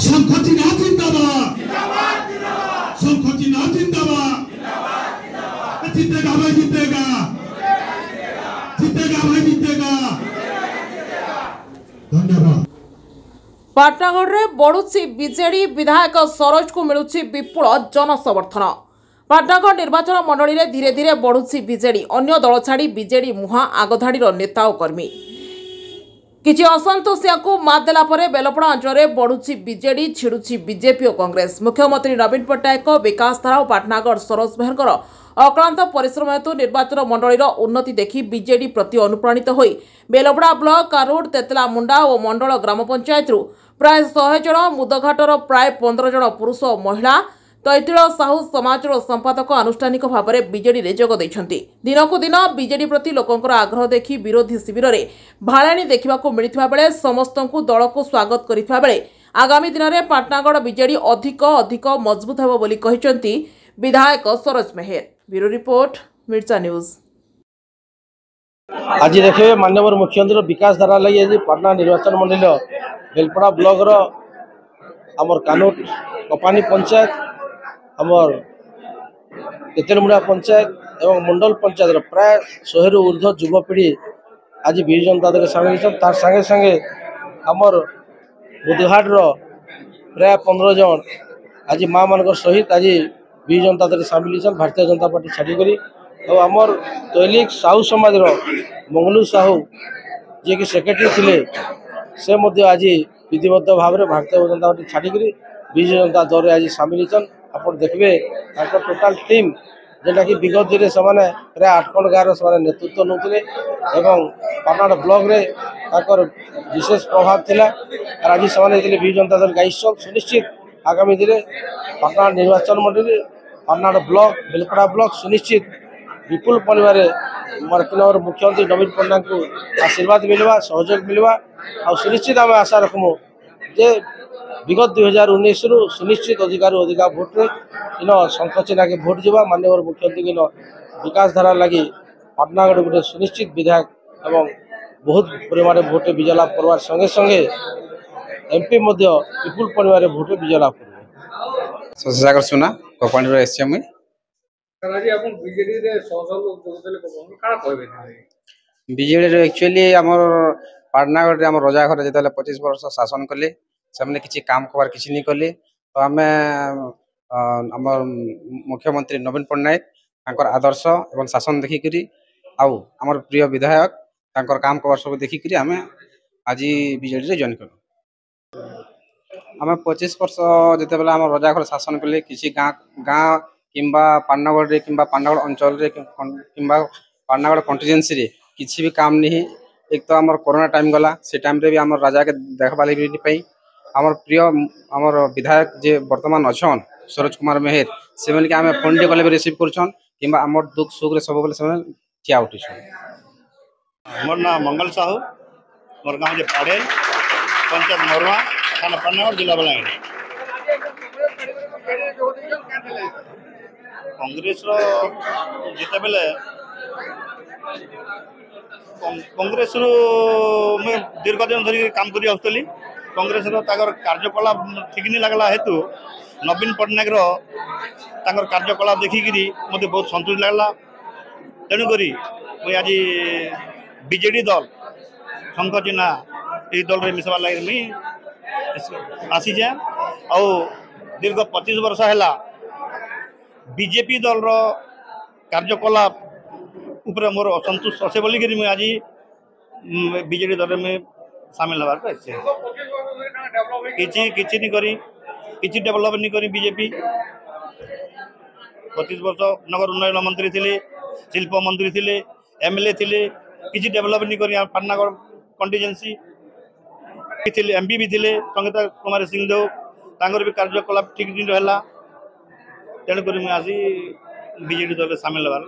ଶଙ୍ଖ ଚିହ୍ନ ଜିନ୍ଦାବାଦ, ଶଙ୍ଖ ଚିହ୍ନ ଜିନ୍ଦାବାଦ। जीतेगा भाई जीतेगा, जीतेगा भाई जीतेगा। ଧନ୍ୟବାଦ। ପାଟଣାଗଡ଼ରେ ବଢୁଛି ବିଜେଡି, ବିଧାୟକ ସରୋଜକୁ ମିଳୁଛି ବିପୁଳ ଜନସମର୍ଥନ। ପାଟଣାଗଡ଼ ନିର୍ବାଚନ ମଣ୍ଡଳୀରେ ଧୀରେ ଧୀରେ ବଢୁଛି ବିଜେଡି। ଅନ୍ୟ ଦଳ ଛାଡ଼ି ବିଜେଡି ମୁହାଁ ଆଗଧାଡ଼ିର ନେତା ଓ କର୍ମୀ। କିଛି ଅସନ୍ତୋଷିଆଙ୍କୁ ମାତ୍ ଦେଲା ପରେ ବେଲପଡ଼ା ଅଞ୍ଚଳରେ ବଢୁଛି ବିଜେଡି, ଛିଡୁଛି ବିଜେପି ଓ କଂଗ୍ରେସ। ମୁଖ୍ୟମନ୍ତ୍ରୀ ନବୀନ ପଟ୍ଟନାୟକଙ୍କ ବିକାଶଧାରା ଓ ପାଟଣାଗଡ଼ ସରୋଜ ମେହେରଙ୍କର ଅକ୍ଳାନ୍ତ ପରିଶ୍ରମ ହେତୁ ନିର୍ବାଚନ ମଣ୍ଡଳୀର ଉନ୍ନତି ଦେଖି ବିଜେଡି ପ୍ରତି ଅନୁପ୍ରାଣିତ ହୋଇ ବେଲପଡ଼ା ବ୍ଲକ କାରୁଡ, ତେତଲାମୁଣ୍ଡା ଓ ମଣ୍ଡଳ ଗ୍ରାମ ପଞ୍ଚାୟତରୁ ପ୍ରାୟ 100 ଜଣ, ମୁଦଘାଟର ପ୍ରାୟ 15 ଜଣ ପୁରୁଷ ଓ ମହିଳା, ତୈତିଳ ସାହୁ ସମାଜର ସମ୍ପାଦକ ଆନୁଷ୍ଠାନିକ ଭାବରେ ବିଜେଡିରେ ଯୋଗ ଦେଇଛନ୍ତି। ଦିନକୁ ଦିନ ବିଜେଡି ପ୍ରତି ଲୋକଙ୍କର ଆଗ୍ରହ ଦେଖି ବିରୋଧୀ ଶିବିରରେ ଭାଳେଣି ଦେଖିବାକୁ ମିଳିଥିବା ବେଳେ ସମସ୍ତଙ୍କୁ ଦଳକୁ ସ୍ୱାଗତ କରିଥିବା ବେଳେ ଆଗାମୀ ଦିନରେ ପାଟଣାଗଡ଼ ବିଜେଡି ଅଧିକ ଅଧିକ ମଜବୁତ ହେବ ବୋଲି କହିଛନ୍ତି ବିଧାୟକ ସରୋଜ ମେହେର। ବ୍ୟୁରୋ ରିପୋର୍ଟ, ମିର୍ଚା ନ୍ୟୁଜ୍। ଆଜି ଦେଖିବେ, ମାନ୍ୟବର ମୁଖ୍ୟମନ୍ତ୍ରୀ ବିକାଶ ଧାରା ଲାଗି ଆଜି ପାଟଣା ନିର୍ବାଚନ ମଣ୍ଡଳୀର ବେଲପଡ଼ା ବ୍ଲକର ଆମର କାନୁଟ କପାନୀ ପଞ୍ଚାୟତ, ଆମର ତେତେଲମୁଣ୍ଡା ପଞ୍ଚାୟତ ଏବଂ ମଣ୍ଡଳ ପଞ୍ଚାୟତର ପ୍ରାୟ 100ରୁ ଉର୍ଦ୍ଧ୍ୱ ଯୁବପିଢ଼ି ଆଜି ବିଜୁ ଜନତା ଦଳରେ ସାମିଲ ହେଇଛନ୍। ତାର ସାଙ୍ଗେ ସାଙ୍ଗେ ଆମର ବୁଧଘାଟର ପ୍ରାୟ 15 ଜଣ ଆଜି ମା ମାନଙ୍କର ସହିତ ଆଜି ବିଜୁ ଜନତା ଦଳରେ ସାମିଲ ହେଇଛନ୍, ଭାରତୀୟ ଜନତା ପାର୍ଟି ଛାଡ଼ିକରି। ଆଉ ଆମର ତୈଲିକ ସାହୁ ସମାଜର ମଙ୍ଗଲୁ ସାହୁ, ଯିଏକି ସେକ୍ରେଟାରୀ ଥିଲେ, ସେ ମଧ୍ୟ ଆଜି ବିଧିବଦ୍ଧ ଭାବରେ ଭାରତୀୟ ଜନତା ପାର୍ଟି ଛାଡ଼ିକରି ବିଜୁ ଜନତା ଦଳରେ ଆଜି ସାମିଲ ହେଇଛନ୍। ଆପଣ ଦେଖିବେ, ତାଙ୍କର ଟୋଟାଲ ଟିମ୍, ଯେନ୍ଟାକି ବିଗତ ଦିନରେ ସେମାନେ ପ୍ରାୟ 8 ଖଣ୍ଡ ଗାଁର ସେମାନେ ନେତୃତ୍ୱ ନେଉଥିଲେ ଏବଂ ପାଟଣାଗଡ଼ ବ୍ଲକରେ ତାଙ୍କର ବିଶେଷ ପ୍ରଭାବ ଥିଲା, ଆର୍ ଆଜି ସେମାନେ ଯେତେବେଳେ ବିଜୁ ଜନତା ଦଳ ଗାଇଛନ୍, ସୁନିଶ୍ଚିତ ଆଗାମୀ ଦିନରେ ପାଟଣାଗଡ଼ ନିର୍ବାଚନ ମଣ୍ଡଳୀ, ପାଟଣାଗଡ଼ ବ୍ଲକ, ବେଲପଡ଼ା ବ୍ଲକ ସୁନିଶ୍ଚିତ ବିପୁଳ ପରିମାଣରେ ଆମର ମୁଖ୍ୟମନ୍ତ୍ରୀ ନବୀନ ପଟ୍ଟନାୟକଙ୍କୁ ଆଶୀର୍ବାଦ ମିଳିବା, ସହଯୋଗ ମିଳିବା। ଆଉ ସୁନିଶ୍ଚିତ ଆମେ ଆଶା ରଖମୁ ଯେ ବିଗତ 2019ରୁ ସୁନିଶ୍ଚିତ ଅଧିକାରୁ ଅଧିକା ଭୋଟରେ ଇନ ଶଙ୍ଖ ଚିହ୍ନାକେ ଭୋଟ ଯିବା। ମାନ୍ୟବର ମୁଖ୍ୟମନ୍ତ୍ରୀଙ୍କ ଇନ ବିକାଶ ଧାରା ଲାଗି ପାଟଣାଗଡ଼ ଗୋଟେ ସୁନିଶ୍ଚିତ ବିଧାୟକ ଏବଂ ବହୁତ ପରିମାଣରେ ଭୋଟରେ ବିଜୟ ଲାଭ କରବାର ସଙ୍ଗେ ସଙ୍ଗେ ଏମ୍ପି ମଧ୍ୟ ବିପୁଳ ପରିମାଣରେ ଭୋଟରେ ବିଜୟ ଲାଭ କରିବେ। ଶଶିସାଗର ସୁନା, କପାଣିରୁ ଆସିଛି ମୁଇଁ। ସାର୍, ଆଜି ଆପଣ ବିଜେଡିରେ ଶହ ଶହ ଲୋକ ଯୋଗ ଦେଲେ, କାଣା କହିବେ? ବିଜେଡ଼ିର ଆକ୍ଚୁଆଲି ଆମର ପାଟଣାଗଡ଼ରେ ଆମର ରଜା ଘରେ ଯେତେବେଳେ 25 ବର୍ଷ ଶାସନ କଲେ, ସେମାନେ କିଛି କାମ କବାର କିଛି ନି କଲେ। ତ ଆମେ ଆମର ମୁଖ୍ୟମନ୍ତ୍ରୀ ନବୀନ ପଟ୍ଟନାୟକ ତାଙ୍କର ଆଦର୍ଶ ଏବଂ ଶାସନ ଦେଖିକରି ଆଉ ଆମର ପ୍ରିୟ ବିଧାୟକ ତାଙ୍କର କାମ କବାର ସବୁ ଦେଖିକରି ଆମେ ଆଜି ବିଜେଡ଼ିରେ ଜଏନ୍ କଲୁ। ଆମେ 25 ବର୍ଷ ଯେତେବେଳେ ଆମ ରଜା ଘର ଶାସନ କଲେ, କିଛି ଗାଁ ଗାଁ କିମ୍ବା ପାଟଣାଗଡ଼ରେ କିମ୍ବା ପାଟଣାଗଡ଼ ଅଞ୍ଚଳରେ କିମ୍ବା ପାଟଣାଗଡ଼ କଣ୍ଟିଜେନ୍ସିରେ କିଛି ବି କାମ ନି। ଏକ ତ ଆମର କରୋନା ଟାଇମ୍ ଗଲା, ସେ ଟାଇମ୍ରେ ବି ଆମର ରାଜାକେ ଦେଖବା ଲାଗି ବି ପାଇ। ଆମର ପ୍ରିୟ ଆମର ବିଧାୟକ ଯେ ବର୍ତ୍ତମାନ ଅଛନ୍ ସରୋଜ କୁମାର ମେହେର, ସେମାନେ ଆମେ ଫୋନ୍ଟେ କଲେ ବି ରିସିଭ୍ କରୁଛନ୍ କିମ୍ବା ଆମର ଦୁଃଖ ସୁଖରେ ସବୁବେଳେ ସେମାନେ ଠିଆ ଉଠୁଛନ୍। ମୋର ନାଁ ମଙ୍ଗଲ ସାହୁ। ମୋର ଗାଁ ହେଉଛି ପାଡ଼େଲ, ପଞ୍ଚାୟତ ମରୁଆ, ଥାନା ପାଟଣାଗଡ଼, ଜିଲ୍ଲା ବଲାଙ୍ଗୀର। କଂଗ୍ରେସର ଯେତେବେଳେ କଂଗ୍ରେସରୁ ମୁଇଁ ଦୀର୍ଘ ଦିନ ଧରିକି କାମ କରି ଆସୁଥିଲି, କଂଗ୍ରେସର ତାଙ୍କର କାର୍ଯ୍ୟକଳାପ ଠିକ୍ ନି ଲାଗଲା ହେତୁ ନବୀନ ପଟ୍ଟନାୟକର ତାଙ୍କର କାର୍ଯ୍ୟକଳାପ ଦେଖିକିରି ମୋତେ ବହୁତ ସନ୍ତୁଷ୍ଟ ଲାଗଲା। ତେଣୁକରି ମୁଇଁ ଆଜି ବିଜେଡ଼ି ଦଳ, ଶଙ୍ଖ ଚିହ୍ନା, ଏଇ ଦଳରେ ମିଶବାର ଲାଗି ମୁଇଁ ଆସିଛେ। ଆଉ ଦୀର୍ଘ 25 ବର୍ଷ ହେଲା ବିଜେପି ଦଳର କାର୍ଯ୍ୟକଳାପ ଉପରେ ମୋର ଅସନ୍ତୋଷ ଅଛେ ବୋଲିକିରି ମୁଇଁ ଆଜି ବିଜେଡ଼ି ଦଳରେ ମୁଇଁ ସାମିଲ ହେବାକୁ ଆସିଛେ। କିଛି କିଛି ନି କରି, କିଛି ଡେଭଲପ ନି କରି ବିଜେପି। 25 ବର୍ଷ ନଗର ଉନ୍ନୟନ ମନ୍ତ୍ରୀ ଥିଲେ, ଶିଳ୍ପ ମନ୍ତ୍ରୀ ଥିଲେ, ଏମଏଲଏ ଥିଲେ, କିଛି ଡେଭଲପ ନି କରି ପାଟଣାଗଡ଼ କଣ୍ଟିଜେନ୍ସି ଥିଲେ। ଏମପି ବି ଥିଲେ ସଙ୍ଗୀତା କୁମାରୀ ସିଂଦେଓ, ତାଙ୍କର ବି କାର୍ଯ୍ୟକଳାପ ଠିକ୍ ନି ରହିଲା। ତେଣୁକରି ମୁଁ ଆଜି ବିଜେଡ଼ି ଦଳରେ ସାମିଲ ହେବାର